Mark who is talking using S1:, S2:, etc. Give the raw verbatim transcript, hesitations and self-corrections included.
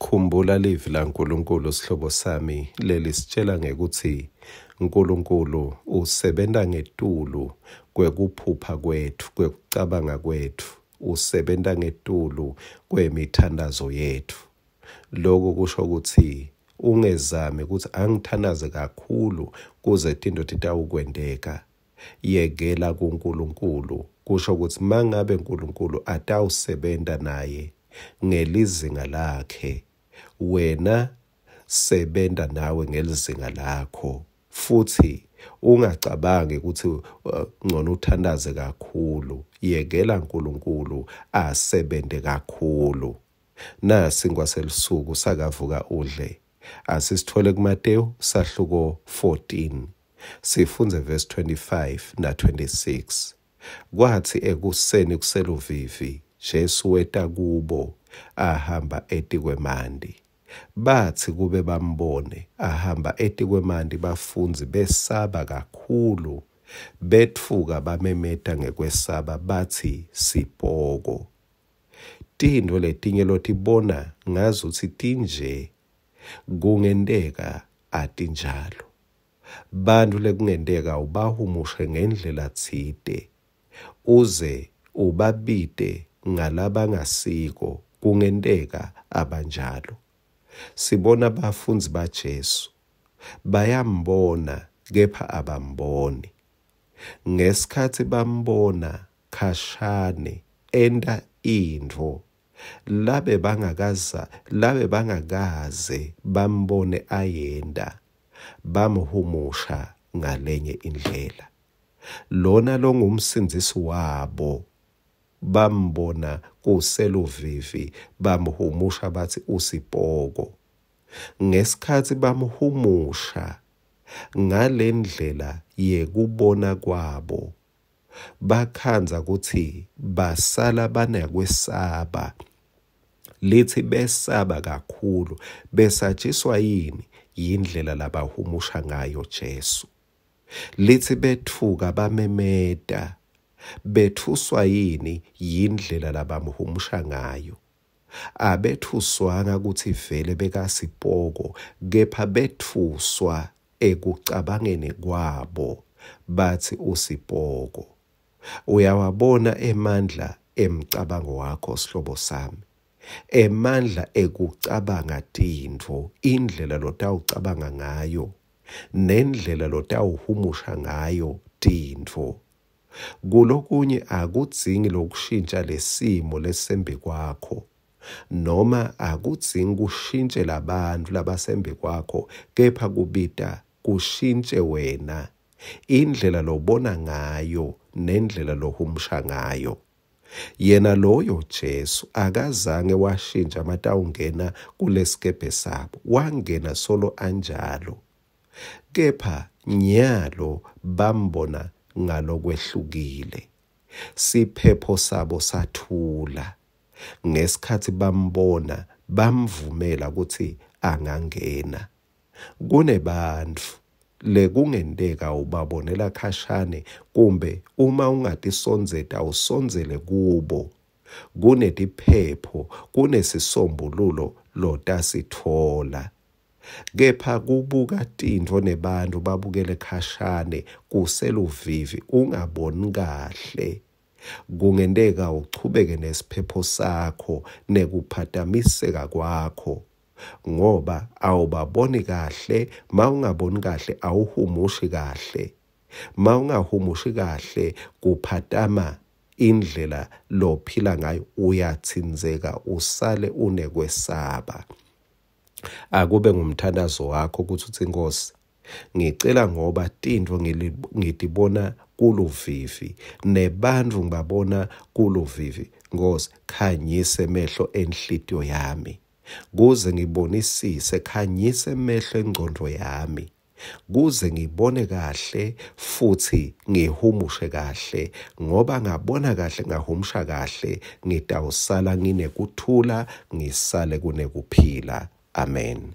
S1: Khumbula livi laNkulunkulu sihlobo sami lelisitshela ngekutsi Nkulunkulu usebenta ngetulu kwekuphupha kwetfu, kwekucabanga kwetfu, usebenta ngetulu kwemithandazo yetfu. Loku kusho kutsi ungezami kutsi angithandaze kakhulu kuze tintfo titawukwenteka. Yekela kuNkulunkulu, kusho kutsi mangabe Nkulunkulu atawusebenta naye ngelizinga lakhe, wena sebenta nawe ngelizinga lakho. Futsi ungacabangi kutsi ngcono uthandaze kakhulu. Yekela Nkulunkulu asebente kakhulu. Nasi ngwaselusuku sakavuka udle. Asisithole kuMateyu sahluko fourteen. Sifundze verse twenty-five na twenty-six. Kwathi ekuseni kuseluvivi Jesu weta kubo ahamba etikwemanti. Batsi kube bambone ahamba etikwemanti, bafundzi besaba kakhulu, betfuka bamemeta ngekwesaba batsi sipoko. Tintfo letinye lotibona ngazuthi tinje kungenteka atinjalo. Bantfu lekungenteka ubahumushe ngendlela tsite uze ubabite ngalabangasiko, kungenteka abanjalo. Sibona bafundzi baJesu bayambona kepha abamboni. Ngesikhatsi bambona khashane enta intfo labe bangakaza labe bangakaze bambone ayenda, bamhumusha ngalenye indlela. Lona longumsindzisi wabo bambona kuseluvivi, bamhumusha batsi usipoko. Ngesikhatsi bamhumusha ngalendlela yekubona kwabo, bakhandza kutsi basala banakwesaba. Lithi besaba kakhulu, besatshiswa yini? Yindlela labahumusha ngayo Jesu. Lithi betfuka bamemeta, bethuswa yini? Yindlela labamhumusha ngayo. Abethuswanga kutsi vele bekasipoko, kepha bethuswa ekucabangeni kwabo batsi usipoko. Uyawabona emandla emcabango wakho sihlobo sami, emandla ekucabanga tintfo, indlela lotawucabanga ngayo nendlela lotawuhumusha ngayo tintfo. Kulokunye akudzingi lokushintsha lesimo lesembi kwakho, noma akudzingi kushintshe labantfu labasembi kwakho, kepha kubita kushintshe wena, indlela lobona ngayo nendlela lohumusha ngayo. Yena loyo Jesu akazange washintsha matawungena kulesikebhe sabo, wangena solo anjalo, kepha nyalo bambona ngalokwehlukile. Siphepho sabo sathula ngesikhatsi bambona, bamvumela kutsi angangena. Kunebantfu lekungenteka ubabonela khashane, kumbe uma ungatisondzeta usondzele kubo, kunetiphepho, kunesisombululo lotasitfola. Kepha kubuka tintfo nebantfu babukele khashane kuseluvivi ungaboni kahle, kungenteka uchubeke nesiphepho sakho nekuphatamiseka kwakho, ngoba awubaboni kahle. Mawungaboni kahle awuhumushi kahle, mawungahumushi kahle kuphatama indlela lophila ngayo, uyatsinzeka usale unekwesaba. Akube ngumthandazo wakho kutsi utsi Nkosi, ngicela ngoba tintfo ngitibona kuluvivi nebantfu ngibabona kuluvivi, Nkosi khanyise emehlo enhlitiyo yami kuze ngibonisise, khanyise emehlo engcondvo yami kuze ngibone kahle futhi ngihumushe kahle, ngoba ngabona kahle ngahumusha kahle ngitawusala nginekuthula, ngisale kunekuphila. Amen.